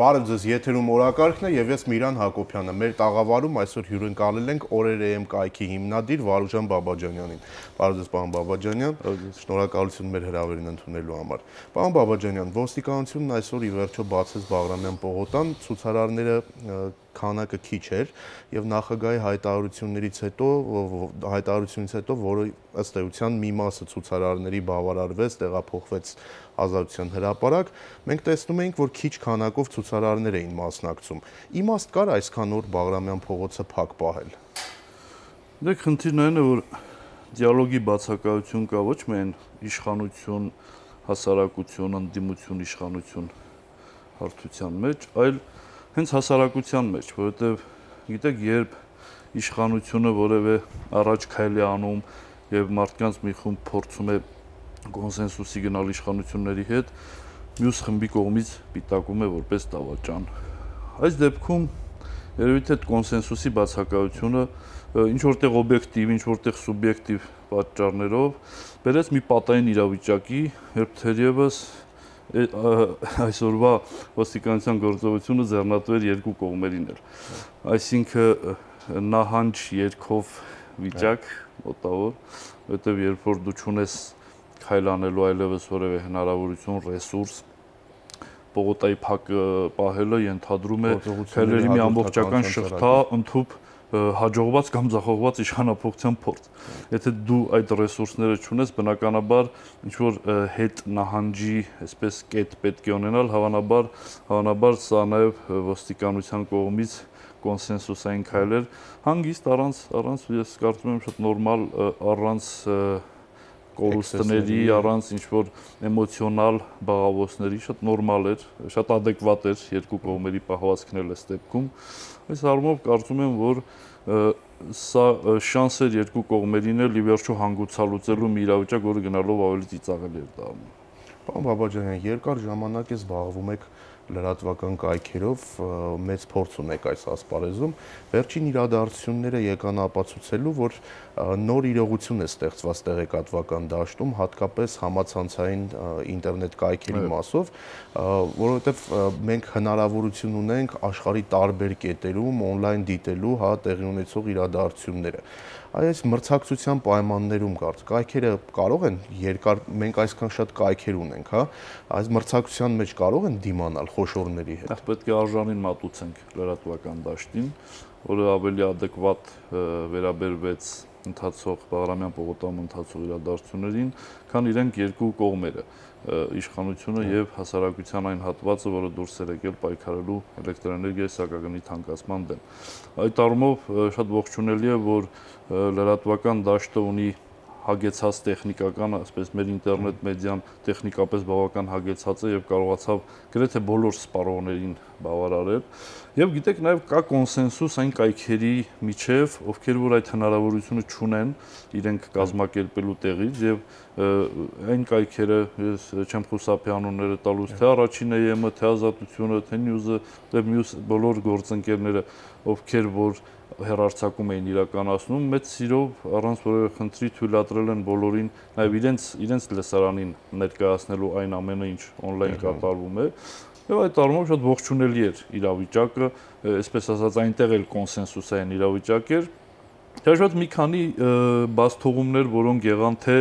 Բարև ձեզ, եթերում օրակարգն է եւ ես Միրան Հակոբյանը։ Մեր տաղավարում այսօր հյուրընկալել ենք Օրեր.am կայքի հիմնադիր Վարուժան Բաբաջանյանին։ Բարև ձեզ, պարոն Բաբաջանյան։ Շնորհակալություն մեր հրավերին ընդունելու համար։ Պարոն Բաբաջանյան, ոստիկանությունն այսօր ի վերջո բացեց Բաղրամյան պողոտան, ցուցարարները քանակը քիչ էր եւ նախագահի հայտարարությունից հետո, որը ըստ էության մի մասը ցուցարարների բավարարվեց, տեղափոխվեց Ազատության հրապարակ, մենք տեսնում էինք, որ քիչ քանակով ցուցարարներ էին մասնակցում։ Իմաստ կար այսքան օր Բաղրամյան փողոցը փակ պահել։ Դե խնդիրն այն է, որ դիալոգի բացակայություն կա ոչ միայն իշխանություն, հասարակություն, ընդդիմություն, իշխանություն հարթության մեջ, այլ հենց հասարակության մեջ, որովհետև գիտեք, երբ իշխանությունը որևէ առաջ քայլ է անում եւ մարդկանց մի խումբ փորձում է կոնսենսուսի գնալ իշխանությունների հետ, մյուս խմբի կողմից պիտակում է որպես դավաճան։ Այս դեպքում երևի թե կոնսենսուսի բացակայությունը ինչ որտեղ օբյեկտիվ, ինչ որտեղ սուբյեկտիվ պատճառներով բերեց մի պատային իրավիճակի, երբ թերևս այսօրվա ոստիկանության գործողությունը ձեռնատու էր երկու կողմերին էլ։ Այսինքն նահանջ երկով վիճակ մոտավոր, որովհետև երբ որ դու չունես քայլ անելու այլևս որևէ հնարավորություն, ռեսուրս, պողոտայի փակ պահելը ենթադրում է քայլերի մի ամբողջական շղթա, ընդհուպ հաջողված կամ ձախողված իշխանափոխության փորձ։ Եթե դու այդ ռեսուրսները չունես, բնականաբար ինչ որ հետ նահանջի, այսպես կետ պետք է ունենալ, հավանաբար սա նաև ոստիկանության կողմից կոնսենսուսային քայլեր, հանգիստ առանց ես կարծում եմ շատ նորմալ, առանց կորուստների, առանց ինչ որ էմոցիոնալ բաղավոցների, շատ նորմալ էր, շատ ադեկվատ էր երկու կողմերի պահվածքն էլ այս դեպքում։ Այս առումով կարծում եմ, որ սա շանս էր երկու կողմերին էլ ի վերջո հանգուցալուծելու մի իրավիճակ, որը գնալով ավելի ծիծաղելի էր դառնում։ Պարոն Բաբաջանյան, երկար ժամանակ է զբաղվում եք լրատվական կայքերով, մեծ փորձ ունեք այս ասպարեզում, վերջին իրադարձությունները եկան ապացուցելու, որ նոր իրողություն է ստեղծված տեղեկատվական դաշտում, հատկապես համացանցային ինտերնետ կայքերի մասով, որովհետև մենք հնարավորություն ունենք աշխարհի տարբեր կետերում on-line դիտելու տեղի ունեցող իրադարձությունները։ Այս մրցակցության պայմաններում կայքերը կարող են երկար, մենք այսքան շատ կայքեր ունենք, հա, այս մրցակցության մեջ կարող են դիմանալ խոշորների հետ։ Պետք է արժանին մատուցենք լրատվական դաշտին, որը ավելի ադեկվատ վերաբերվեց ընթացող Բաղրամյան պողոտայում ընթացող իրադարձություններին, քան իրենք երկու կողմերը, իշխանությունը եւ հասարակության այն հատվածը, որը դուրս էր եկել պայքարելու էլեկտրոէներգիայի սակագնի թանկացման դեմ։ Այդ առումով շատ ողջունելի է, որ լրատվական դաշտը ունի հագեցած տեխնիկական, ասես մեր ինտերնետ մեդիան տեխնիկապես բավական հագեցած է եւ կարողացավ գրեթե բոլոր սպառողներին բավարարել։ Եվ գիտեք, նաեւ կա կոնսենսուս այն կայքերի միջև, ովքեր որ այդ հնարավորությունը չունեն իրենք կազմակերպելու տեղից եւ այն կայքերը, ես չեմ խուսափի անունները տալուց, թե առաջին EM-ը, թե Ազատությունը, թե News-ը, թե մյուս բոլոր գործընկերները, ովքեր որ հեռարձակում էին իրականացնում, մեծ սիրով առանց որևէ խնդրի թույլատրել են բոլորին նաև իրենց լսարանին ներկայացնելու այն ամենը, ինչ on-line կատարվում է։ Եվ այդ առումով շատ ողջունելի էր իրավիճակը, այսպես ասած, այնտեղ էլ կոնսենսուսային իրավիճակ էր։ Հաշված մի քանի բացթողումներ, որոնք եղան թե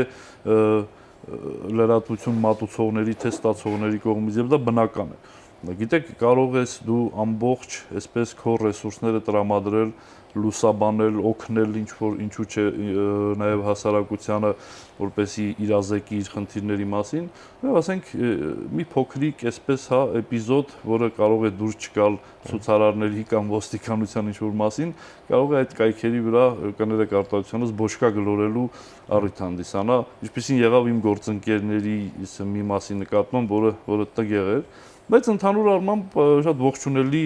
լրատվություն մատուցողների, թե ստացողների կողմից, եւ դա բնական է։ Գիտեք, կարող ես դու ամբողջ այսպես քո ռեսուրսները տրամադրել, լուսաբանել, օգնել ինչու չէ նաև հասարակությանը, որպեսզի իրազեկի իր խնդիրների մասին, եւ ասենք մի փոքրիկ այսպես հա էպիզոդ, որը կարող է դուրս չգալ ցուցարարների կամ ոստիկանության ինչ-որ մասին, կարող է այդ կայքերի վրա կներեք արտադրությունից բոչկա գլորելու առիթ հանդիսանա, ինչպեսին եղավ իմ գործընկերների մի մասի նկատմամբ, որը տգեղ էր։ Բայց ընդհանուր առմամբ շատ ողջունելի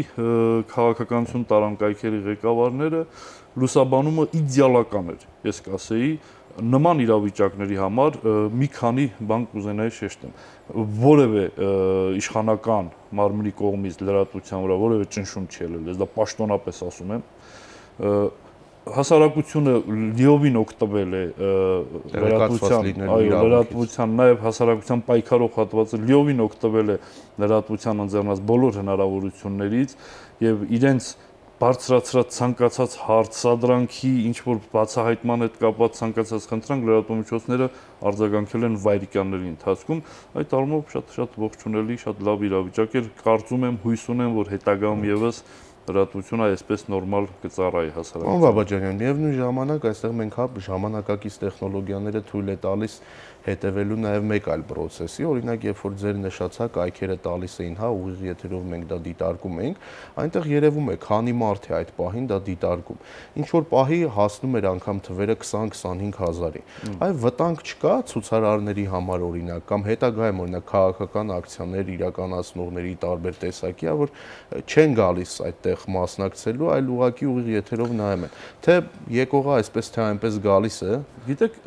քաղաքականություն տարան կայքերի ղեկավարները, լուսաբանումը իդեալական էր, ես կասեի, նման իրավիճակների համար մի քանի բան կուզենայի շեշտեմ։ Որևէ իշխանական մարմնի կողմից լրատվության վրա որևէ ճնշում չի ելել, ես դա պաշտոնապես ասում եմ, հասարակությունը լիովին օգտվել է լրատվության, նաև հասարակության պայքարող հատվածը լիովին օգտվել է լրատվության ընձեռնած բոլոր հնարավորություններից եւ իրենց բարձրացրած ցանկացած հարց, սադրանքի, ինչ որ բացահայտման հետ կապված ցանկացած խնդրանք լրատվամիջոցները արձագանքել են վայրիկյանների ընթացքում։ Այդ առումով շատ ողջունելի, շատ լավ իրավիճակ է։ Կարծում եմ, հույս ունեմ, որ հետագայում եւս լրատվությունը այսպես նորմալ կծառայի հասարակությանը։ Պարոն Բաբաջանյան, միևնույն ժամանակ այստեղ մենք ժամանակակից տեխնոլոգիաները թույլ է տալիս հետևելու նաև մեկ այլ process-ի, օրինակ, երբ որ ձեր նշածա կայքերը տալիս էին, ուղիղ եթերով մենք դա դիտարկում էինք, այնտեղ երևում է, քանի մարդ է այդ պահին դա դիտարկում։ Ինչ որ պահի հասնում էր անգամ թվերը 20-25 հազարի։ Այ վտանգ չկա ցուցարարների համար օրինակ, կամ հետագայում օրինակ քաղաքական ակցիաներ իրականացնողների տարբեր տեսակի, որ չեն գալիս այդտեղ մասնակցելու, այլ ուղղակի ուղիղ եթերով նայում են։ Թե եկողը այսպես թե այնպես գալիս է։ Գիտեք,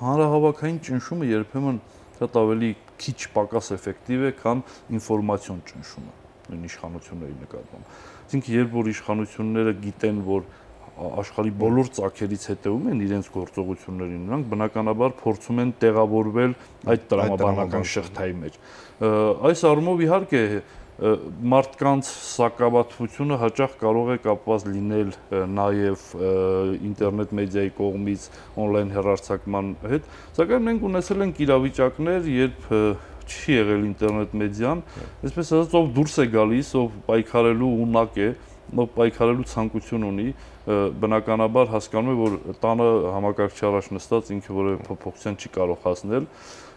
հանրահավաքային ճնշումը երբեմն շատ ավելի քիչ պակաս էֆեկտիվ է, քան ինֆորմացիոն ճնշումը նույն իշխանությունների նկատմամբ։ Այսինքն, երբ որ իշխանությունները գիտեն, որ աշխարհի բոլոր ծագերից հետևում են իրենց գործողություններին, նրանք բնականաբար փորձում են տեղավորվել այդ տրամաբանական շղթայի մեջ։ Այս առումով իհարկե մարդկանց սակավաթվությունը հաճախ կարող է կապված լինել նաև ինտերնետ մեդիայի կողմից on-line հեռարձակման հետ, սակայն մենք ունեցել ենք իրավիճակներ, երբ չի եղել ինտերնետ մեդիան, այսպես ասած, ով դուրս է գալիս, ով պայքարելու ունակ է, ով պայքարելու ցանկություն ունի, բնականաբար հասկանում է, որ տանը համակարգչի առաջ նստած ինքը որևէ փոփոխության չի կարող հասնել։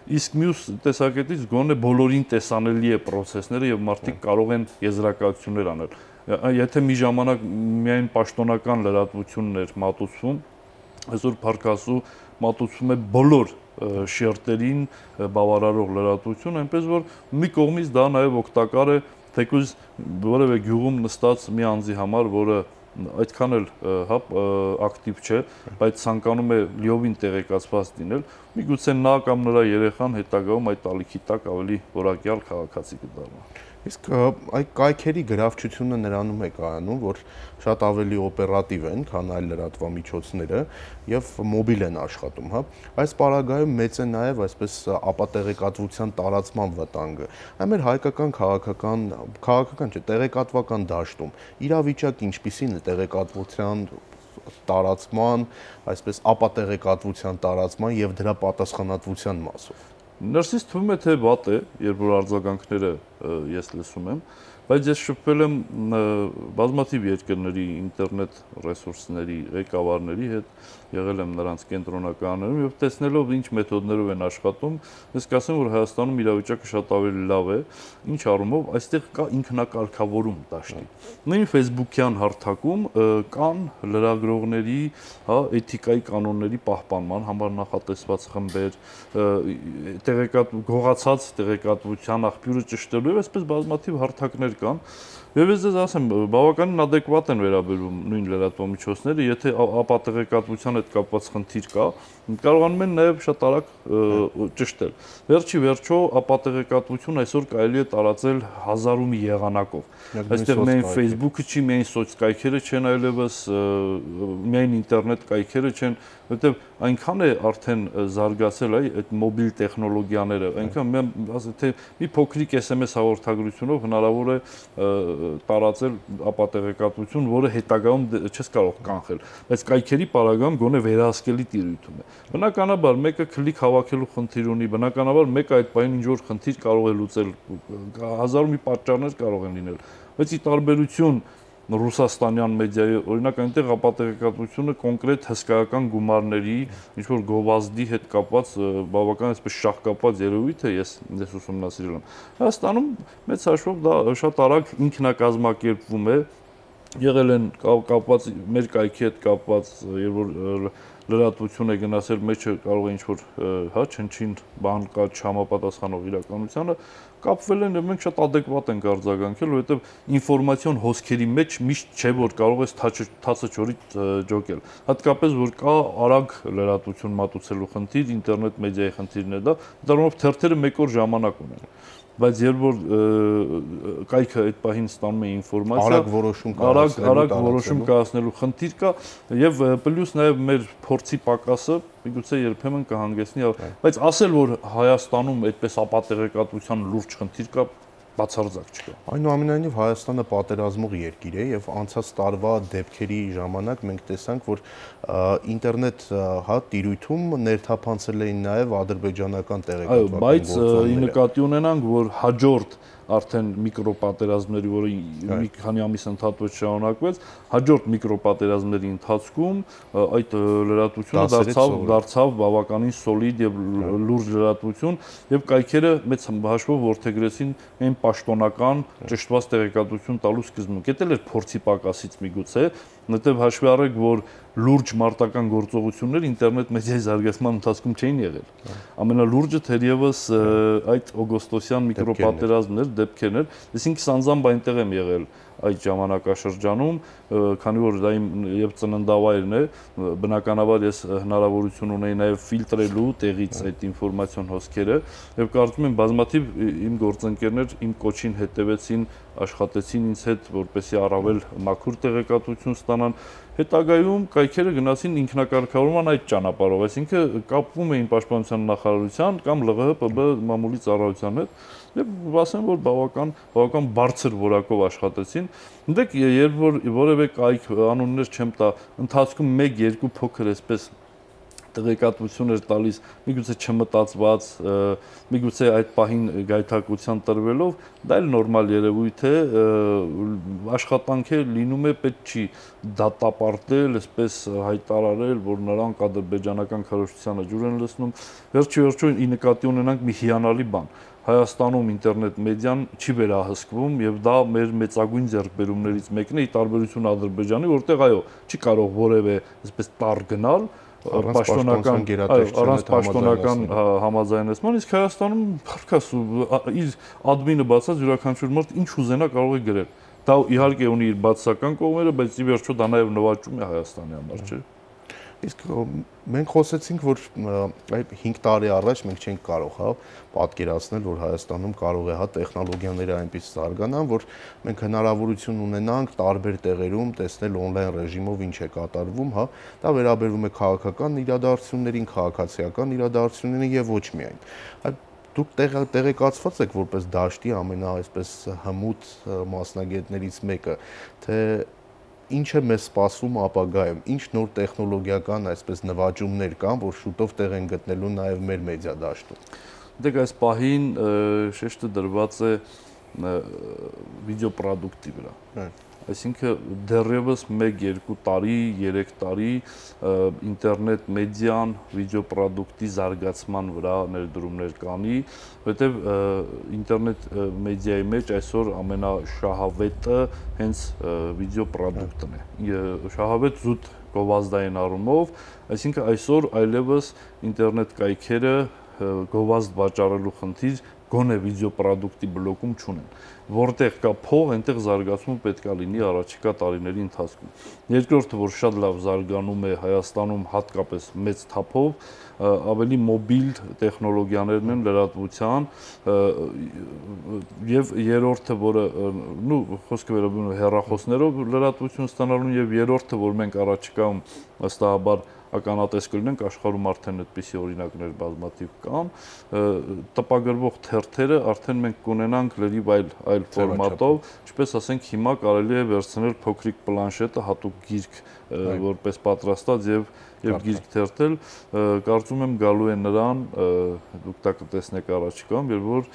Իսկ մյուս տեսակետից գոնե բոլորին տեսանելի է process-ները եւ մարդիկ կարող են եզրակացություններ անել։ Եթե մի ժամանակ միայն պաշտոնական լրատվությունն էր մատուցվում, այսօր փառքասու մատուցվում է բոլոր շերտերին բավարարող լրատվություն, այնպես որ մի կողմից դա նաեւ օգտակար է թեկուզ որևէ գյուղում նստած մի անձի համար, որը այդքան էլ ակտիվ չէ, բայց ցանկանում է լիովին տեղեկացված լինել, միգուցե նա կամ նրա երեխան հետագայում այդ ալիքի տակ ավելի որակյալ քաղաքացի կդառնա։ Իսկ այդ կայքերի գրավչությունը նրանում է կայանում, որ շատ ավելի օպերատիվ են, քան այլ լրատվամիջոցները եւ մոբիլ են աշխատում, Այս պարագայում մեծ է նաեւ այսպես ապատեղեկատվության տարածման վտանգը։ Այ մեր հայկական քաղաքական չէ, տեղեկատվական դաշտում իրավիճակը ինչպիսին է տեղեկատվության տարածման, այսպես ապատեղեկատվության տարածման եւ դրա պատասխանատվության մասով։ Ներսից թվում է, թե վատ է, երբ որ արձագանքները ես լսում եմ, բայց ես շփվել եմ բազմաթիվ երկրների ինտերնետ ռեսուրսների ղեկավարների հետ, եղել եմ նրանց կենտրոնականներում եւ տեսնելով ինչ մեթոդներով են աշխատում, ես կասեմ, որ Հայաստանում իրավիճակը շատ ավելի լավ է, ինչ առումով այստեղ կա ինքնակարգավորում դաշտի։ Նույն Facebook-յան հարթակում կան լրագրողների, էթիկայի կանոնների պահպանման համար նախատեսված խմբեր, գողացած տեղեկատվության աղբյուրը ճշտելու եւ այսպես բազմաթիվ հարթակներ կան եւ ես ձեզ ասեմ բավականին adekvat են վերաբերվում նույն լրատվամիջոցները, եթե ապատեղեկատվության հետ կապված խնդիր կա, կարողանում են նաեւ շատ արագ ճշտել։ Վերջի վերջո ապատեղեկատվություն այսօր կարելի է տարածել հազարու մի եղանակով։ Այստեղ միայն Facebook-ը չի, միայն սոցկայքերը չեն, այլևս միայն ինտերնետ կայքերը չեն, որտեղ այնքան է արդեն զարգացել այդ մոբիլ տեխնոլոգիաները, այնքան թե մի փոքրիկ SMS հաղորդագրությունով հնարավոր է տարածել ապատեղեկատվություն, որը հետագայում չես կարող կանխել, բայց կայքերի պարագայում գոնե վերահսկելի տիրույթում է։ Բնականաբար մեկը քլիկ հավաքելու խնդիր ունի, բնականաբար մեկը այդ բանին ինչ որ խնդիր կարող է լուծել, հազարու մի պատճառներ կարող են լինել, բայց ի տարբերություն ռուսաստանյան մեդիայի, օրինակ այնտեղ ապատեղեկատվությունը կոնկրետ հսկայական գումարների, ինչ որ գովազդի հետ կապված բավական այսպես շահկապված երևույթ է, ես ուսումնասիրել եմ։ Հայաստանում մեծ հաշվով դա շատ արագ ինքնակազմակերպվում է, եղել են կապված մեր կայքի հետ կապված, երբ որ լրատվություն է գնացել, մեջը կարող է ինչ-որ չնչին բան կա չհամապատասխանող իրականությանը, կապվել են եւ մենք շատ adekvat ենք արձագանքել, որովհետեւ ինֆորմացիոն հոսքերի մեջ միշտ չէ որ կարող ես թացը ճորի ջոկել։ Հատկապես որ կա արագ լրատվություն մատուցելու խնդիր, ինտերնետ մեդիայի խնդիրն է դա, դառնալով թերթերը մեկ օր ժամանակ ունեն։ բայց երբ որ կայքը այդ պահին ստանում է ինֆորմացիա, արագ որոշում կայացնելու խնդիր կա եւ պլյուս նաեւ մեր փորձի պակասը միգուցե երբեմն կհանգեցնի, բայց ասել որ Հայաստանում այդպես ապատեղեկատվության լուրջ խնդիր կա, բացարձակ չկա։ Այնուամենայնիվ Հայաստանը պատերազմող երկիր է եւ անցած տարվա դեպքերի ժամանակ մենք տեսանք, որ ինտերնետ տիրույթում ներթափանցել էին նաեւ ադրբեջանական տեղեկատվական գործոնները։ Բայց ի նկատի ունենանք, որ հաջորդ արդեն միկրոպատերազմների, որը մի քանի ամիս ընդհատված շարունակվեց, հաջորդ միկրոպատերազմների ընթացքում այդ լրատվությունը դարձավ բավականին սոլիդ եւ լուրջ լրատվություն եւ կայքերը մեծ հաշվով որդեգրեցին այն պաշտոնական ճշտված տեղեկատվություն տալու սկզբունք։ Դա էլ էր փորձի պակասից միգուցե, որտեղ հաշվի առեք, որ լուրջ մարտական գործողություններ ինտերնետ մեդիայի զարգացման ընթացքում չէին եղել։ Ամենալուրջը թերևս այդ օգոստոսյան միկրոպատերազմներ, դեպքերն էր, այսինքն սանձամբ այնտեղ եմ եղել այդ ժամանակաշրջանում, քանի որ դա իմ եւ ծննդավայրն է, բնականաբար ես հնարավորություն ունեի նաեւ ֆիլտրելու տեղից այդ ինֆորմացիոն հոսքերը եւ կարծում եմ բազմաթիվ իմ գործընկերներ իմ կոչին հետևեցին, աշխատեցին ինձ հետ, որպեսզի առավել մաքուր տեղեկատվություն ստանան։ Հետագայում կայքերը գնացին ինքնակարգավորման այդ ճանապարհով, այսինքն կապվում էին պաշտպանության նախարարության կամ ԼՂՀ ՊԲ մամուլի ծառայության հետ եւ ասեմ որ բավական բարձր որակով աշխատեցին։ Դեք երբ որ որևէ կայք անուններ չեմ տա, ընթացքում 1-2 փոքր այսպես տեղեկատվություն էր տալիս, միգուցե չմտածված, միգուցե այդ պահին գայթակղության տրվելով, դա էլ նորմալ երևույթ է, աշխատանք է լինում է, պետք չի դատապարտել, այսպես հայտարարել, որ նրանք ադրբեջանական քարոզչությանը ջուր են լցնում, վերջի ի նկատի ունենանք մի հիանալի բան։ Հայաստանում ինտերնետ մեդիան չի վերահսկվում եւ դա մեր մեծագույն ձեռքբերումներից մեկն է, ի տարբերություն Ադրբեջանի, որտեղ այո, չի կարող որևէ այսպես տար գնալ առանց պաշտոնական համաձայնեցման, իսկ Հայաստանում փառքաս իր ադմինը բացած յուրաքանչյուր մարդ ինչ ուզենա կարող է գրել։ Դա իհարկե ունի իր բացասական կողմերը, բայց ի վերջո դա նաև նվաճում է Հայաստանի համար, չէ՞։ Իսկ մենք խոսեցինք, որ 5 տարի առաջ մենք չենք կարող պատկերացնել, որ Հայաստանում կարող է տեխնոլոգիաները այնպես զարգանան, որ մենք հնարավորություն ունենանք տարբեր տեղերում տեսնել on-line ռեժիմով ինչ է կատարվում, դա վերաբերվում է քաղաքական իրադարձություններին, քաղաքացիական իրադարձություններին եւ ոչ միայն։ Դուք տեղեկացված եք որպես դաշտի այսպես հմուտ մասնագետներից մեկը, թե ինչ է մեզ սպասվում ապագայում, ինչ նոր տեխնոլոգիական այսպես նվաճումներ կան, որ շուտով տեղ են գտնելու նաև մեր մեդիա դաշտում։ Դեք այս պահին շեշտը դրված է վիդեոպրոդուկտի վրա։ Այսինքն դեռևս 1-2 տարի, 3 տարի ինտերնետ մեդիան վիդեոպրոդուկտի զարգացման վրա ներդրումներ կանի, որտեղ ինտերնետ մեդիայի մեջ այսօր ամենաշահավետը հենց վիդեոպրոդուկտն է։ Շահավետ զուտ գովազդային առումով, այսինքն այսօր այլևս ինտերնետ կայքերը գովազդ վաճառելու խնդիր գոնե վիդեոպրոդուկտի բլոկում չունեն, որտեղ կա փող, այնտեղ զարգացումը պետք է լինի առաջիկա տարիների ընթացքում։ Երկրորդը, որ շատ լավ զարգանում է Հայաստանում հատկապես մեծ թափով, ավելի մոբիլ տեխնոլոգիաներն են լրատվության, եւ երրորդը, որը խոսքը վերաբերում է հեռախոսներով լրատվություն ստանալուն, եւ երրորդը, որ մենք առաջիկայում վստահաբար ականատես կլինենք, աշխարհում արդեն այդպիսի օրինակներ բազմաթիվ կան, տպագրվող թերթերը արդեն մենք կունենանք լրիվ այլ ֆորմատով, ինչպես ասենք հիմա կարելի է վերցնել փոքրիկ պլանշետը, հատուկ գիրք որպես պատրաստած եւ գիրք թերթել, կարծում եմ գալու է նրան, դուք դա կտեսնեք առաջիկայում, երբ որ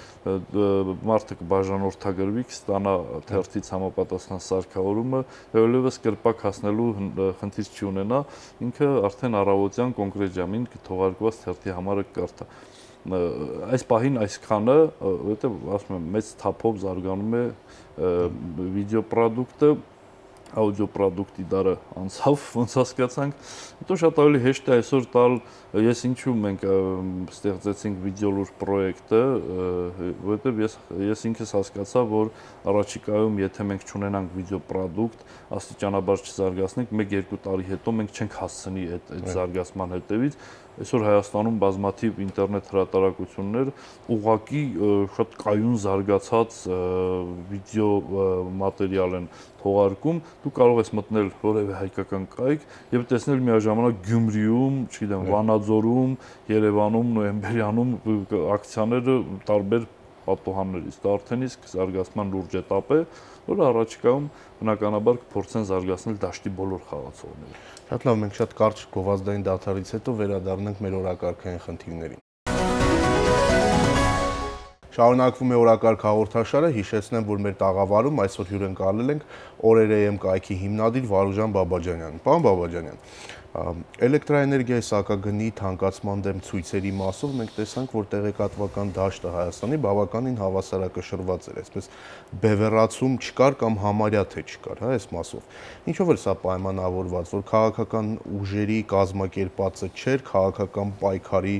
մարդը կբաժանորդագրվի, կստանա թերթից համապատասխան սարքավորումը, այլևս կրպակ հասնելու խնդիր չի ունենա, ինքը արդեն առավոտյան կոնկրետ ժամին կթողարկված թերթի համարը կկարդա։ Այս պահին այսքանը, որովհետեւ ասում եմ, մեծ թափով զարգանում է վիդեոպրոդուկտը, աուդիոպրոդուկտի դարը անցավ, ոնց հասկացանք, հետո շատ ավելի հեշտ է այսօր տալ, ես ինչու մենք ստեղծեցինք վիդեոլուր պրոյեկտը, որովհետև ես ինքս հասկացա, որ առաջիկայում, եթե մենք չունենանք վիդեոպրոդուկտ, աստիճանաբար չզարգացնենք, 1-2 տարի հետո մենք չենք հասցնի այդ զարգացման հետևից, այսօր Հայաստանում բազմաթիվ ինտերնետ հրատարակություններ ուղղակի շատ կայուն զարգացած վիդեո մատերիալ են թողարկում, դու կարող ես մտնել որևէ հայկական կայք եւ տեսնել միաժամանակ Գյումրիում, չգիտեմ, Վանաձորում, Երևանում, Նոյեմբերյանում ակցիաները տարբեր պատոհաններից։ Դա արդեն իսկ զարգացման լուրջ էտապ է, որը առաջիկայում բնականաբար կփորձեն զարգացնել դաշտի բոլոր խաղացողները։ Շատ լավ, մենք շատ կարճ գովազդային դադարից հետո վերադառնանք մեր օրակարգային խնդիրներին։ Շարունակվում է օրակարգ հաղորդաշարը, հիշեցնեմ, որ մեր տաղավարում այսօր հյուրընկալել ենք Օրեր.am կայքի հիմնադիր Վարուժան Բաբաջանյանին։ Պարոն Բաբաջանյան, էլեկտրաէներգիայի սակագնի թանկացման դեմ ցույցերի մասով մենք տեսանք, որ տեղեկատվական դաշտը Հայաստանի բավականին հավասարակշռված էր, այսպես բևեռացում չկար կամ համարյա թե չկար, հա, այս մասով։ Ինչով էր սա պայմանավորված, որ քաղաքական ուժերի կազմակերպածը չէր, քաղաքական պայքարի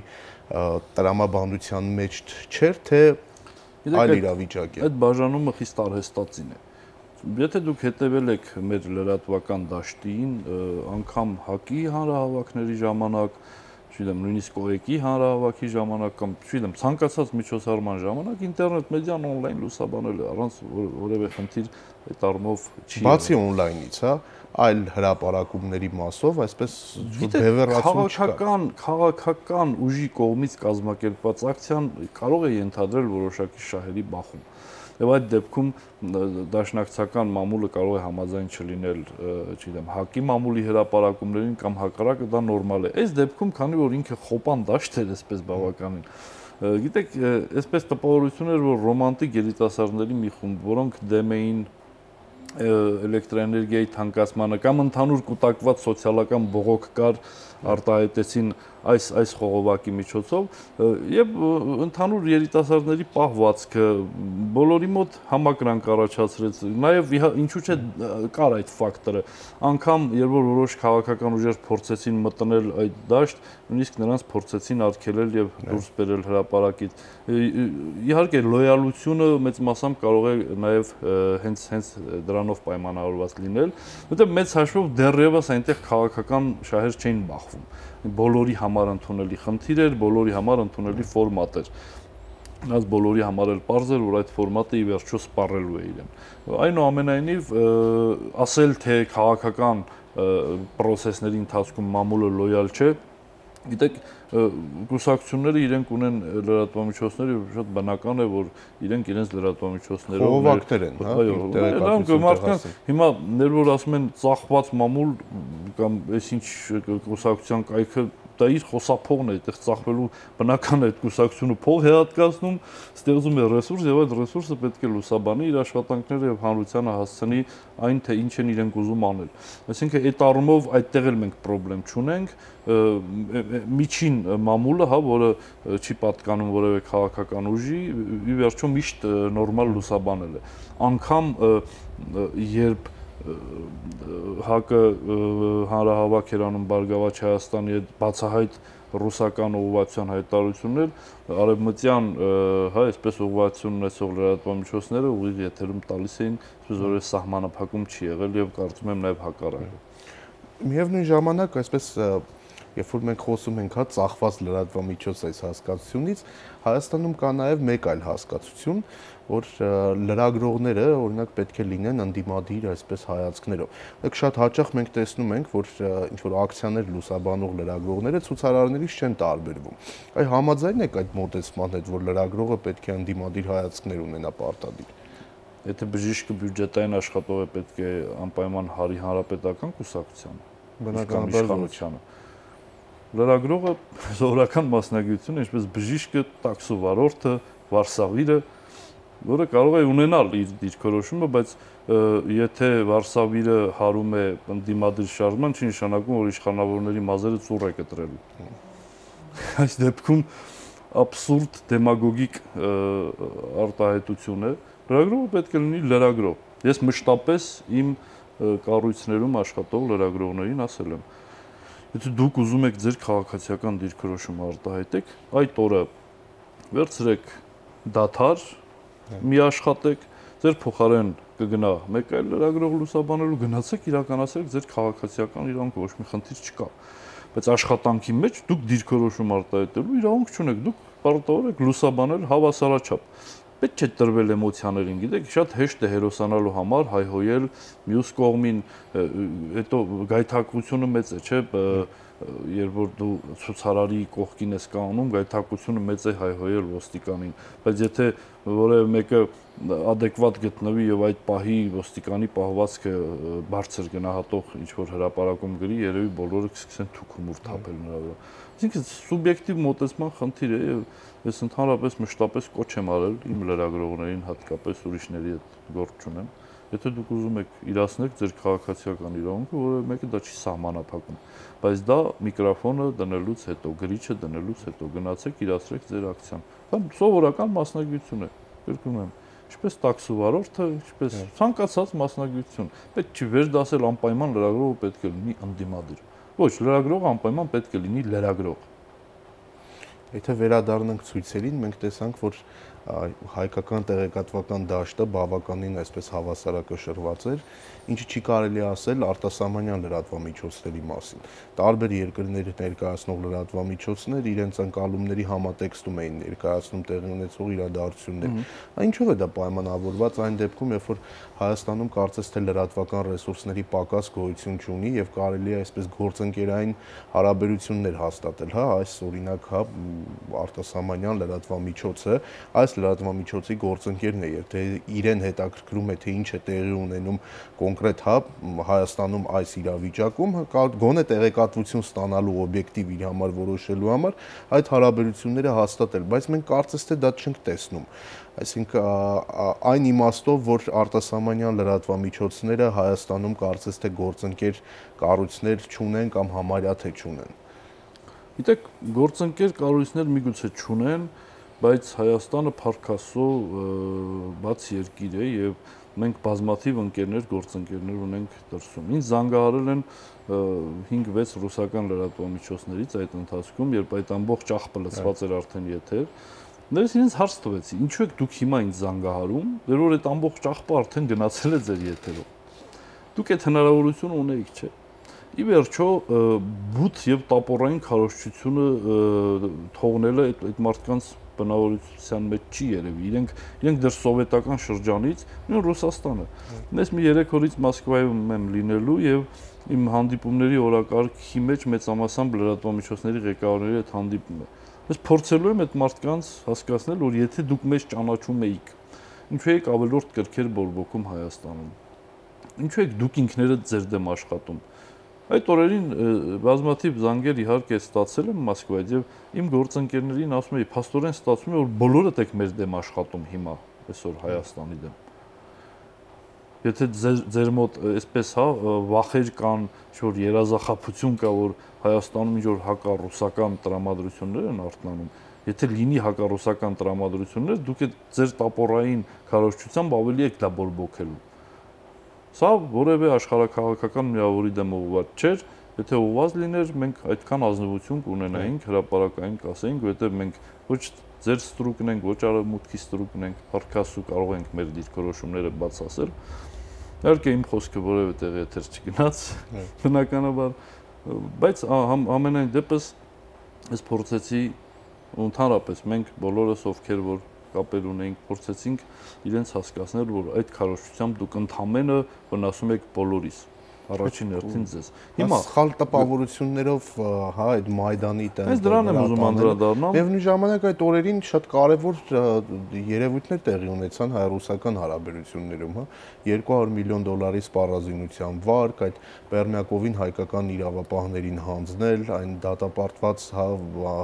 տրամաբանության մեջ չէր, թե այլ իրավիճակ է։ Այդ բաժանումը խիստ արհեստածին է։ Եթե դուք հետևել եք մեր լրատվական դաշտին, անգամ ՀԱԿ-ի հանրահավաքների ժամանակ, չգիտեմ, նույնիսկ ՕԵԿ-ի հանրահավաքի ժամանակ կամ չգիտեմ, ցանկացած միջոցառման ժամանակ ինտերնետ մեդիան on-line լուսաբանել է, առանց որևէ խնդիր այդ առումով չի։ Բացի on-line-ից, հա, այլ հրապարակումների մասով, այսպես բևեռացում չկա։ Քաղաքական ուժի կողմից կազմակերպված ակցիան կարող է ենթադրել որոշակի շահերի բախում։ Եվ այդ դեպքում դաշնակցական մամուլը կարող է համաձայն չլինել, չգիտեմ, ՀԱԿ-ի մամուլի հրապարակումներին կամ հակառակը, դա նորմալ է։ Այս դեպքում, քանի որ ինքը խոպան դաշտ էր, այսպես բավականին, գիտեք, այսպես տպավորություն էր, որ ռոմանտիկ երիտասարդների մի խումբ, որոնք դեմ էին էլեկտրաէներգիայի թանկացմանը կամ ընդհանուր կուտակված սոցիալական բողոք կար, արտահայտեցին այս խողովակի միջոցով եւ ընդհանուր երիտասարդների պահվածքը բոլորի մոտ համակրանք առաջացրեց, նաեւ ինչու՞ չէ կար այդ ֆակտորը, անգամ երբ որ որոշ քաղաքական ուժեր փորձեցին մտնել այդ դաշտ, նույնիսկ նրանց փորձեցին արգելել եւ դուրս բերել հրապարակից։ Իհարկե լոյալությունը մեծ մասամբ կարող է նաեւ հենց դրանով պայմանավորված լինել, որտեղ մեծ հաշվով դեռևս այնտեղ քաղաքական շահեր չէին բախվում։ Բոլորի համար ընդունելի խնդիր էր, բոլորի համար ընդունելի ֆորմատ էր։ Այս բոլորի համար էլ պարզ էր, որ այդ ֆորմատը ի վերջո սպառելու է իրեն։ Այնուամենայնիվ, ասել թե քաղաքական պրոցեսների ընթացքում մամուլը լոյալ չէ, գիտեք, կուսակցությունները իրենք ունեն լրատվամիջոցներ եւ շատ բնական է, որ իրենք իրենց լրատվամիջոցներով խողովակներ են, հա, տեղեկատվություն։ Հիմա ներ որ ասում են ծախված մամուլ կամ այսինչ կուսակցության կայքը դա իր խոսափողն է, այդտեղ ծախվելու բնական է այդ կուսակցությունը փող է հատկացնում, ստեղծում է ռեսուրս եւ այդ ռեսուրսը պետք է լուսաբանի իր աշխատանքները եւ հանրությանը հասցնի այն թե ինչ են իրենք ուզում անել։ Այսինքն այդ առումով այդտեղ էլ մենք խնդրեմ չունենք, միջին մամուլը, հա, որը չի պատկանում որևէ քաղաքական ուժի, ի վերջո միշտ նորմալ լուսաբանել է։ Անկամ երբ ՀԱԿ-ը հանրահավաք էր անում Բարգավաճ Հայաստանի հետ բացահայտ ռուսական ուղղվածության հայտարարություններ, արևմտյան, հա, այսպես ուղղվածություն ունեցող լրատվամիջոցները ուղիղ եթերում տալիս էին, այսպես որ սահմանափակում չի եղել եւ կարծում եմ նաեւ հակառակը։ Միևնույն ժամանակ, այսպես երբ որ մենք խոսում ենք, հա, ծախված լրատվամիջոց այս հասկացությունից, Հայաստանում կա նաև մեկ այլ հասկացություն, որ լրագրողները, օրինակ, պետք է լինեն ընդդիմադիր այսպես հայացքներով։ Դեք շատ հաճախ մենք տեսնում ենք, որ ինչ որ ակցիաներ լուսաբանող լրագրողները ցուցարարներից չեն տարբերվում։ Այ համաձայն եք այդ մոտեցման հետ, որ լրագրողը պետք է ընդդիմադիր հայացքներ ունենա պարտադիր։ Եթե բժիշկը բյուջետային աշխատող է, պետք է անպայման հարի հանրապետական կուսակցությանը, բնականաբար իշխանությանը։ Լրագրողը սովորական մասնագիտություն է, ինչպես բժիշկը, տաքսու վարորդը, վարսավիրը, որը կարող է ունենալ իր դիրքորոշումը, բայց եթե վարսավիրը հարում է ընդդիմադիր շարժման, չի նշանակում, որ իշխանավորների մազերը ծուռ է կտրելու։ Այս դեպքում աբսուրդ դեմագոգիկ արտահայտություն է։ Լրագրողը պետք է լինի լրագրող։ Ես մշտապես իմ կառույցներում աշխատող լրագրողներին ասել եմ. Եթե դուք ուզում եք ձեր քաղաքացիական դիրքորոշումը արտահայտեք, այդ օրը վերցրեք դադար, մի աշխատեք, ձեր փոխարեն կգնա մեկ այլ լրագրող լուսաբանելու, գնացեք իրականացրեք ձեր քաղաքացիական իրավունքը, ոչ մի խնդիր չկա։ բայց աշխատանքի մեջ դուք դիրքորոշում արտահայտելու իրավունք չունեք, դուք պարտավոր եք լուսաբանել հավասարաչափ։ Պետք չէ տրվել էմոցիաներին, գիտեք, շատ հեշտ է հերոսանալու համար հայհոյել մյուս կողմին, հետո գայթակղությունը մեծ է, չէ՞, երբ որ դու ցուցարարի կողքին ես կանգնում, գայթակղությունը մեծ է հայհոյել ոստիկանին, բայց եթե որևէ մեկը adekvat գտնվի եւ այդ պահի ոստիկանի պահվածքը բարձր գնահատող ինչ որ հրապարակում գրի, երևի բոլորը կսկսեն թուքումուր թափել նրա վրա։ Այսինքն սուբյեկտիվ մոտեցման խնդիր է եւ ես ընդհանրապես մշտապես կոչ եմ արել իմ լրագրողներին, հատկապես ուրիշների հետ գործ չունեմ։ Եթե դուք ուզում եք իրացնեք ձեր քաղաքացիական իրավունքը, որևէ մեկը դա չի սահմանափակում, բայց դա միկրոֆոնը դնելուց հետո, գրիչը դնելուց հետո գնացեք իրացրեք ձեր ակցիան։ Դա սովորական մասնագիտություն է, կրկնում եմ, ինչպես տաքսու վարորդը, ինչպես ցանկացած մասնագիտություն։ Պետք չի վերդասել անպայման լրագրողը պետք է լինի ընդդիմադիր։ Ոչ, լրագրողը անպայման պետք է լինի լրագրող։ Եթե վերադառնանք ցույցերին, մենք տեսանք, որ հայկական տեղեկատվական դաշտը բավականին այսպես հավասարակշռված էր, ինչը չի կարելի ասել արտասահմանյան լրատվամիջոցների մասին։ Տարբեր երկրների ներկայացնող լրատվամիջոցներ իրենց ընկալումների համատեքստում էին ներկայացնում տեղի ունեցող իրադարձություններ։ Ինչով է դա պայմանավորված այն դեպքում, երբ որ Հայաստանում կարծես թե լրատվական ռեսուրսների պակաս գոյություն չունի եւ կարելի է այսպես գործընկերային հարաբերություններ հաստատել, հա, այս օրինակ, հա, արտասահմանյան լրատվամիջոցը, այս լրատվամիջոցի գործընկերն է, եթե իրեն հետաքրքրում է թե ինչ է տեղի ունենում կոնկրետ, հա, Հայաստանում այս իրավիճակում, գոնե տեղեկատվություն ստանալու օբյեկտիվ իր համար որոշելու համար այդ հարաբերությունները հաստատել, բայց մենք կարծես թե դա չենք տեսնում։ Այսինքն այն իմաստով, որ արտասահմանյան լրատվամիջոցները Հայաստանում կարծես թե գործընկեր կառույցներ չունեն կամ համարյա թե չունեն։ Գիտեք, գործընկեր կառույցներ միգուցե չունեն, բայց Հայաստանը փառքասո բաց երկիր է եւ մենք բազմաթիվ ընկերներ, գործընկերներ ունենք դրսում։ Ինձ զանգահարել են 5-6 ռուսական լրատվամիջոցներից այդ ընթացքում, երբ այդ ամբողջ աղբը լցված էր արդեն եթեր, Ներս ինձ հարց տվեցի, ինչու եք դուք հիմա ինձ զանգահարում, դեռ որ այդ ամբողջ աղբը արդեն գնացել է ձեր եթերով։ Դուք այդ հնարավորությունը ունեիք, չէ՞։ Ի վերջո, բութ եւ տապորային քարոզչությունը թողնելը այդ մարդկանց բնավորության մեջ չի երևի։ Իրենք դեռ սովետական շրջանից, նույն Ռուսաստանը։ Ես մի 3 օրից Մոսկվայում եմ լինելու եւ իմ հանդիպումների օրակարգի մեջ մեծամասամբ լրատվամիջոցների ղեկավարների հետ հանդիպում է։ Ես փորձելու եմ այդ մարդկանց հասկացնել, որ եթե դուք մեզ ճանաչում էիք, ինչու եք ավելորդ կրքեր բորբոքում Հայաստանում։ Ինչու եք դուք ինքներդ ձեր դեմ աշխատում։ Այդ օրերին բազմաթիվ զանգեր իհարկե ստացել եմ Մոսկվայից եւ իմ գործընկերներին ասում էի, փաստորեն ստացվում է, որ բոլորդ եք մեր դեմ աշխատում հիմա, այսօր Հայաստանի դեմ։ Եթե ձեր մոտ այսպես, հա, վախեր կան, ինչ-որ երազախաբություն կա, որ Հայաստանում ինչ-որ հակառուսական տրամադրություններ են արթնանում, եթե լինի հակառուսական տրամադրություններ, դուք ձեր տապորային քարոզչությամբ ավելի եք դա բորբոքելու։ Սա որևէ աշխարհաքաղաքական միավորի դեմ ուղղված չէր, եթե ուղղված լիներ, մենք այդքան ազնվություն կունենայինք, հրապարակային կասեինք, որովհետև մենք ոչ ձեր ստրուկն ենք, ոչ արևմուտքի ստրուկն ենք, փառքասու կարող ենք մեր դիրքորոշումները բաց ասել։ Իհարկե իմ խոսքը որևէ տեղ եթեր չգնաց, բնականաբար, բայց ամենայն դեպս ես փորձեցի ընդհանրապես մենք բոլորս ովքեր որ կապեր ունեինք, փորձեցինք իրենց հասկացնել, որ այդ քարոզչությամբ դուք ընդամենը վնասում եք բոլորիս, առաջին հերթին ձեզ։ Հիմա սխալ տպավորություններով, հա, այդ Մայդանի տեղ։ Ես դրան եմ ուզում անդրադառնալ։ Միևնույն ժամանակ այդ օրերին շատ կարևոր երևույթներ տեղի ունեցան հայ-ռուսական հարաբերություններում, հա, $200 միլիոն սպառազինության վարկ, այդ Պերմյակովին հայկական իրավապահներին հանձնել, այն դատապարտված, հա,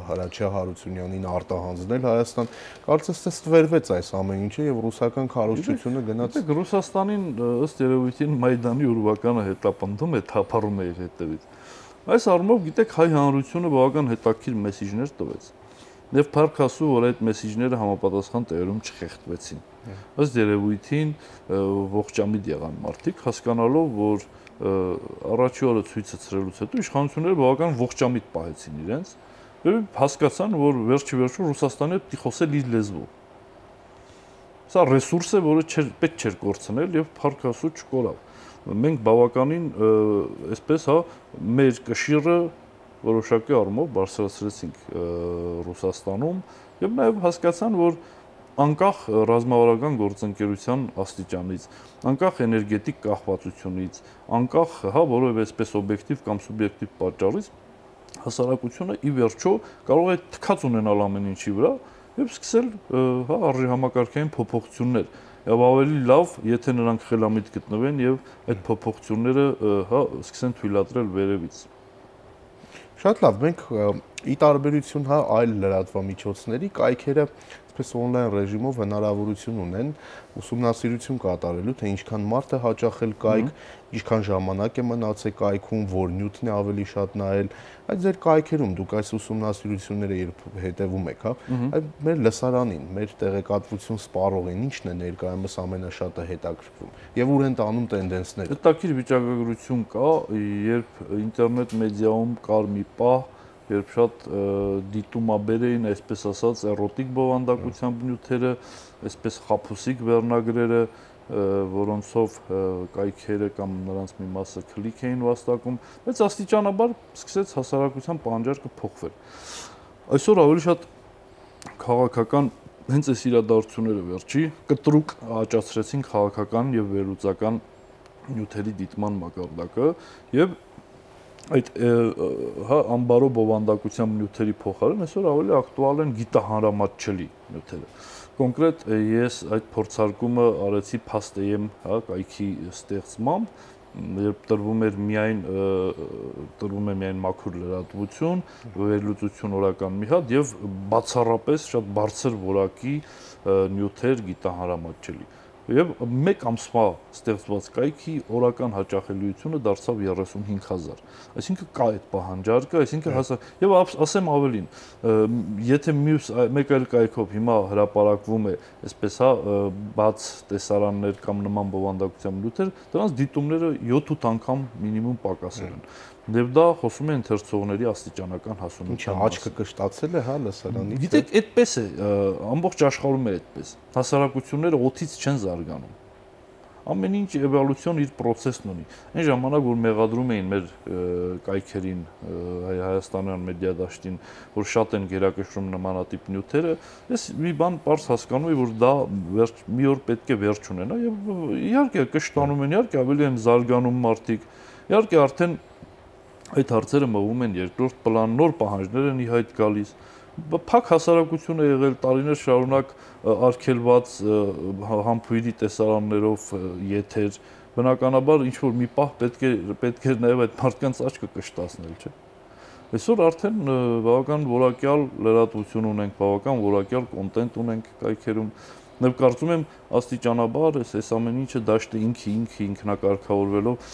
Հրաչյա Հարությունյանին արտահանձնել Հայաստան, կարծես թե ստվերվեց այս ամեն ինչը եւ ռուսական քարոզչությունը գնաց։ Ռուսաստանին ըստ երևույթին Մայդանի ուրվականը հետապնդում է, թափառում է իր հետևից։ Այս առումով գիտեք հայ հանրությունը բավական հետաքրքիր մեսիջներ տվեց։ Եվ փառքասու, որ այդ մեսիջները համապատասխան տեղերում չխեղդվեցին։ Ըստ երևույթին ողջամիտ եղան մարդիկ, հասկանալով, որ առաջի օրը ցույցը ծրելուց հետո իշխանությունները բավական ողջամիտ պահեցին իրենց, եւ հասկացան, որ վերջի վերջում Ռուսաստանը պետք է խոսել իր լեզվով։ Սա ռեսուրս է, որը պետք չէր կորցնել եւ փառքասու չկորավ։ Մենք բավականին այսպես, հա, մեր կշիռը որոշակի առումով բարձրացրեցինք Ռուսաստանում եւ նաեւ հասկացան, որ անկախ ռազմավարական գործընկերության աստիճանից, անկախ էներգետիկ կախվածությունից, անկախ որևէ այսպես օբյեկտիվ կամ սուբյեկտիվ պատճառից հասարակությունը ի վերջո կարող է թքած ունենալ ամեն ինչի վրա եւ սկսել արժի համակարգային փոփոխություններ եւ ավելի լավ, եթե նրանք խելամիտ գտնվեն եւ այդ փոփոխությունները սկսեն թույլատրել վերևից։ Շատ լավ, մենք ի տարբերություն այլ լրատվամիջոցների կայքերը այսպես on-line ռեժիմով հնարավորություն ունեն ուսումնասիրություն կատարելու, թե ինչքան մարդ է հաճախել կայք, ինչքան ժամանակ է մնացել կայքում, որ նյութն է ավելի շատ նայել, այդ ձեր կայքերում դուք այս ուսումնասիրությունները երբ հետևում եք, այդ մեր լսարանին, մեր տեղեկատվություն սպառողին ինչն է ներկայումս ամենաշատը հետաքրքրում եւ ուր են տանում տենդենսները։ Հետաքրքիր վիճակագրություն կա, երբ ինտերնետ մեդիայում կար մի պահ, երբ շատ դիտումաբեր էին, այսպես ասած, էրոտիկ բովանդակությամբ նյութերը, այսպես խաբուսիկ վերնագրերը, որոնցով կայքերը կամ նրանց մի մասը քլիկ էին վաստակում, բայց աստիճանաբար սկսեց հասարակության պահանջարկը փոխվել։ Այսօր ավելի շատ քաղաքական հենց այս իրադարձությունները վերջի կտրուկ աճացրեցին քաղաքական եւ վերլուծական նյութերի դիտման մակարդակը եւ այդ ամբարո բովանդակությամբ նյութերի փոխարեն այսօր ավելի ակտուալ են գիտահանրամատչելի նյութերը։ Կոնկրետ ես այդ փորձարկումը արեցի Փաստ.am կայքի ստեղծմամբ, երբ տրվում է միայն մաքուր լրատվություն, վերլուծություն օրական մի հատ եւ բացառապես շատ բարձր որակի նյութեր գիտահանրամատչելի։ Եվ մեկ ամսվա ստեղծված կայքի օրական հաճախելիությունը դարձավ 35000։ Այսինքն կա այդ պահանջարկը, այսինքն եւ ասեմ ավելին, եթե մեկ այլ կայքով հիմա հրապարակվում է, այսպես բաց տեսարաններ կամ նման բովանդակությամբ նյութեր, դրանց դիտումները 7-8 անգամ մինիմում պակասել են։ Եվ դա խոսում է ընթերցողների աստիճանական հասունության մասին։ Աչքը կշտացել է, լսարանից։ Գիտեք, այդպես է, ամբողջ աշխարհում է այդպես։ Հասարակությունները օդից չեն զարգանում։ Ամեն ինչ էվոլյուցիոն իր process-ն ունի։ Այն ժամանակ, որ մեղադրում էին մեր կայքերին, հայաստանյան մեդիա դաշտին, որ շատ են գերակշռում նմանատիպ նյութերը, ես մի բան պարզ հասկանում եմ, որ դա մի օր պետք է վերջ ունենա եւ իհարկե կշտանում են, իհարկե ավելի են զարգանում մարդիկ, իհարկե արդեն այդ հարցերը մղում են երկրորդ պլան, նոր պահանջներ են ի հայտ գալիս։ Փակ հասարակություն է եղել տարիներ շարունակ արգելված համբույրի տեսարաններով եթեր, բնականաբար ինչ որ մի պահ պետք է նաև այդ մարդկանց աչքը կշտացնել, չէ՞։ Այսօր արդեն բավական որակյալ լրատվություն ունենք, բավական որակյալ կոնտենտ ունենք կայքերում։ Եվ կարծում եմ աստիճանաբար այս ամեն ինչը դաշտը ինքնակարգավորվելով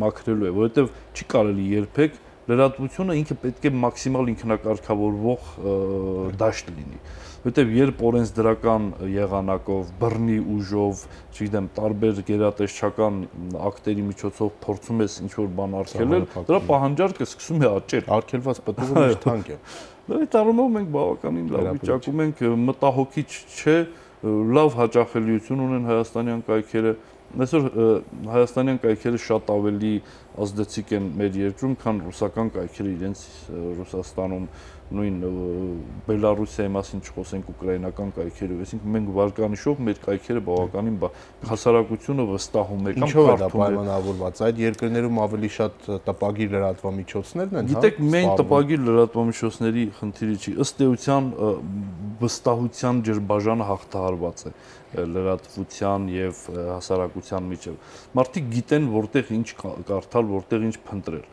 մաքրելու է, որովհետև չի կարելի երբեք լրատվությունը ինքը պետք է մաքսիմալ ինքնակարգավորվող դաշտ լինի, որովհետև երբ օրենսդրական եղանակով, բռնի ուժով, չգիտեմ, տարբեր գերատեսչական ակտերի միջոցով փորձում ես ինչ-որ բան արգելել, դրա պահանջարկը սկսում է աճել։ Արգելված պտուղը միշտ թանկ է։ Այդ առումով մենք բավականին լավ վիճակում ենք, մտահոգիչ չէ, լավ հաճախելիություն ունեն հայաստանյան կայքերը։ Այսօր հայաստանյան կայքերը շատ ավելի ազդեցիկ են մեր երկրում, քան ռուսական կայքերը իրենց Ռուսաստանում, նույն Բելարուսիայի մասին չխոսենք, ուկրաինական կայքերով, այսինքն մենք վարկանիշով մեր կայքերը բավականին հասարակությունը վստահում է կամ կարդում է։ Ինչով է դա պայմանավորված։ Այդ երկրներում ավելի շատ տպագիր լրատվամիջոցներն են, Գիտեք, միայն տպագիր լրատվամիջոցների խնդիրը չի, ըստ էության վստահության ջրբաժանը հաղթահարված է լրատվության եւ հասարակության միջեւ։ Մարդիկ գիտեն որտեղ ինչ կարդալ, որտեղ ինչ փնտրել։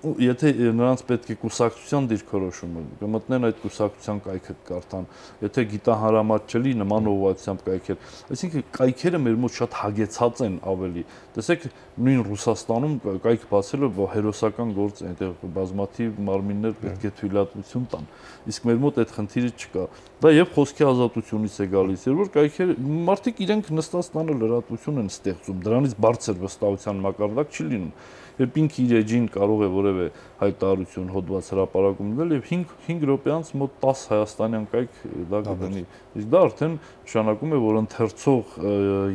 Եթե նրանց պետք է կուսակցության դիրքորոշումը, կմտնեն այդ կուսակցության կայքը կարդան, եթե գիտահանրամատչելի նման ուղղությամբ կայքեր, այսինքն կայքերը մեր մոտ շատ հագեցած են ավելի։ Տեսեք, նույն Ռուսաստանում կայք բացելը հերոսական գործ է, այնտեղ բազմաթիվ մարմիններ պետք է թույլատվություն տան, իսկ մեր մոտ այդ խնդիրը չկա։ Դա եւ խոսքի ազատությունից է գալիս, երբ որ կայքերը մարդիկ իրենք նստած տանը լրատվություն են ստեղծում, դրանից բարձր վստահության մակարդակ չի լինում։ Երբ ինքը իր էջին կարող է որևէ որևէ հայտարարություն հոդված հրապարակում դնել եւ 5 րոպեանց մոտ 10 հայաստանյան կայք դա կգնի։ Իսկ դա արդեն նշանակում է, որ ընթերցող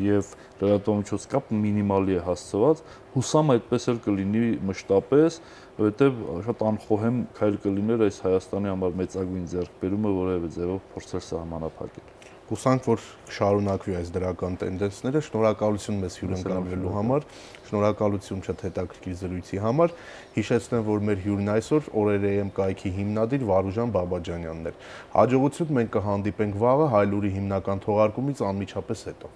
եւ լրատվամիջոց կապ մինիմալի է հասցված։ Հուսամ այդպես էլ կլինի մշտապես, որովհետեւ շատ անխոհեմ քայլ կլիներ այս Հայաստանի համար մեծագույն ձեռքբերումը որևէ ձևով փորձել սահմանափակել։ Հուսանք, որ շարունակվի այս դրական տենդենսները։ Շնորհակալություն մեզ հյուրընկալվելու համար, շնորհակալություն շատ հետաքրքիր զրույցի համար։ Հիշեցնեմ, որ մեր հյուրն այսօր Օրեր.am կայքի հիմնադիր Վարուժան Բաբաջանյանն էր։ Հաջողություն, մենք կհանդիպենք վաղը Հայլուրի հիմնական թողարկումից անմիջապես հետո։